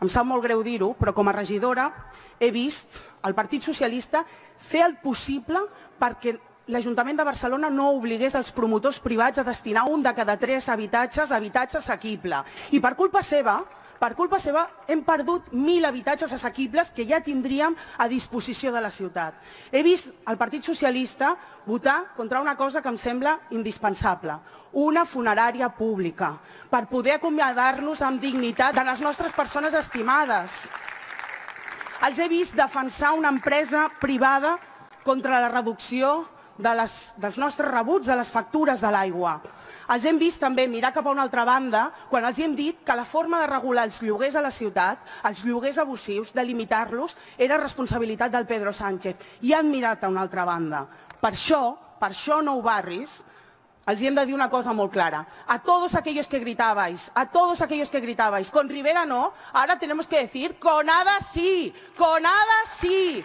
Em sap molt greu dir-ho, però com a regidora he vist el Partit Socialista fer el possible perquè l'Ajuntament de Barcelona no obligués els promotors privats a destinar un de cada 3 habitatges a habitatge assequible. I per culpa seva, hem perdut 1.000 habitatges assequibles que ja tindríem a disposició de la ciutat. He vist el Partit Socialista votar contra una cosa que em sembla indispensable, una funerària pública, per poder acomiadar-nos amb dignitat de les nostres persones estimades. Els he vist defensar una empresa privada contra la reducció dels nostres rebuts de les factures de l'aigua. Els hem vist també mirar cap a una altra banda quan els hem dit que la forma de regular els lloguers a la ciutat, els lloguers abusius, de limitar-los, era responsabilitat del Pedro Sánchez. I han mirat a una altra banda. Per això, Nou Barris, els hem de dir una cosa molt clara. A todos aquellos que gritabais, con Rivera no, ahora tenemos que decir, con Ada sí, con Ada sí.